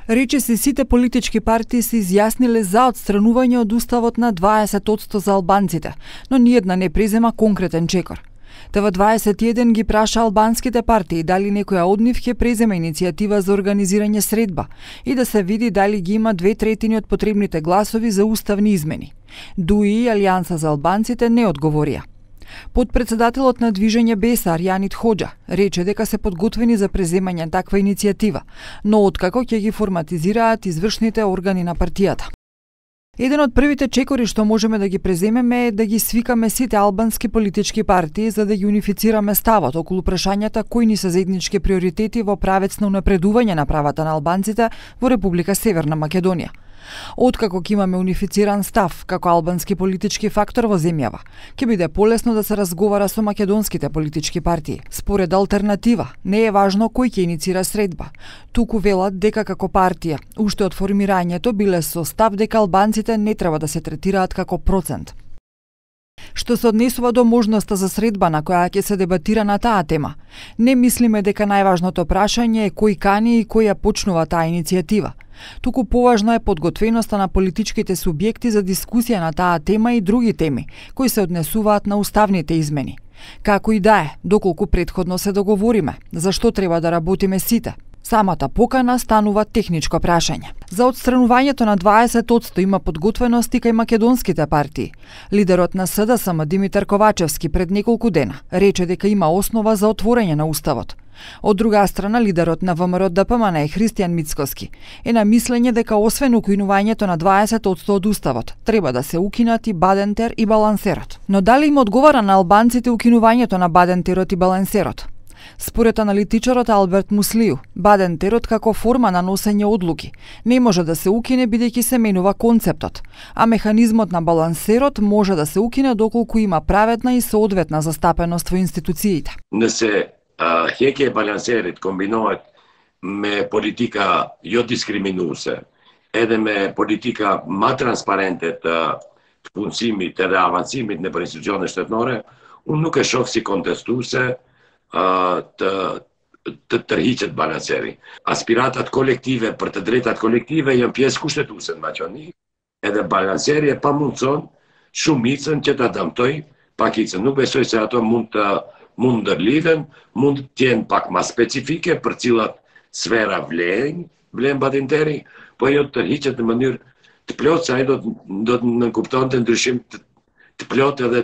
Рече се сите политички партии се изјасниле за отстранување од уставот на 20% за албанците, но ниедна не презема конкретен чекор. ТВ21 ги праша албанските партии дали некоја од нив ќе преземе иницијатива за организирање средба и да се види дали ги има 2/3 од потребните гласови за уставни измени. ДУИ и Алијанса за албанците не одговорија. Подпредседателот на движење Бесар Јанит Хоџа рече дека се подготвени за преземање таква иницијатива, но откако ќе ги форматизираат извршните органи на партијата. Еден од првите чекори што можеме да ги преземеме е да ги свикаме сите албански политички партии за да ги унифицираме ставот околу прашањата кои ни се заеднички приоритети во правец на унапредување на правата на албанците во Република Северна Македонија. Откако ќе имаме унифициран став како албански политички фактор во земјава, ќе биде полесно да се разговара со македонските политички партии. Според Алтернатива, не е важно кој ќе иницира средба. Туку велат дека како партија, уште од формирањето биле со став дека албанците не треба да се третираат како процент. Што се однесува до можноста за средба на која ќе се дебатира на таа тема, не мислиме дека најважното прашање е кој кани и кој ја почнува таа иницијатива. Туку поважна е подготвеноста на политичките субјекти за дискусија на таа тема и други теми, кои се однесуваат на уставните измени. Како и да е, доколку претходно се договориме, за што треба да работиме сите. Самата покана станува техничко прашање. За отстранувањето на 20% има подготвеност и кај македонските партии. Лидерот на СДСМ Димитар Ковачевски пред неколку дена рече дека има основа за отворање на уставот. Од друга страна, лидерот на ВМРО ДПМН Христијан Мицкоски е на мислење дека освен укинувањето на 20% од уставот, треба да се укинат и Бадентер и Балансерот. Но дали им одговара на албанците укинувањето на Бадентерот и Балансерот? Според аналитичарот Алберт Муслију, Бадентерот како форма на носење одлуки не може да се укине бидејќи се менува концептот, а механизмот на Балансерот може да се укине доколку има праведна и соодветна застапеност во институциите. Не се хеќе балансерит комбинуваат ме политика ја дискриминусе, еде ме политика ма транспарентет punësimit edhe avancimit në për institucionet shtetënore, unë nuk e shoh si kontestuse të tërhiqet balanseri. Aspiratat kolektive për të drejtat kolektive janë pjesë kushtetuese në Maqedoni, edhe balanseri e pamundson shumicën që ta dëmtoj pakicën. Nuk besoj se ato mund të ndërlidhen, mund të jenë pak ma specifike për cilat sfera vlen Badenteri, po jo të tërhiqet në mënyrë të plotë, se ai do të nënkuptonte ndryshim të plot edhe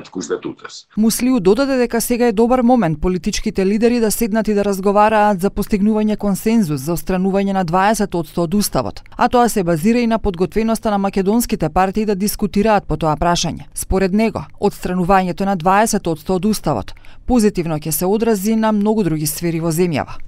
të kushtetutës. Муслију додаде дека сега е добар момент политичките лидери да седнат и да разговараат за постигнување консензус за отстранување на 20% од уставот, а тоа се базира и на подготвеноста на македонските партии да дискутираат по тоа прашање. Според него, отстранувањето на 20% од уставот позитивно ќе се одрази на многу други сфери во земјава.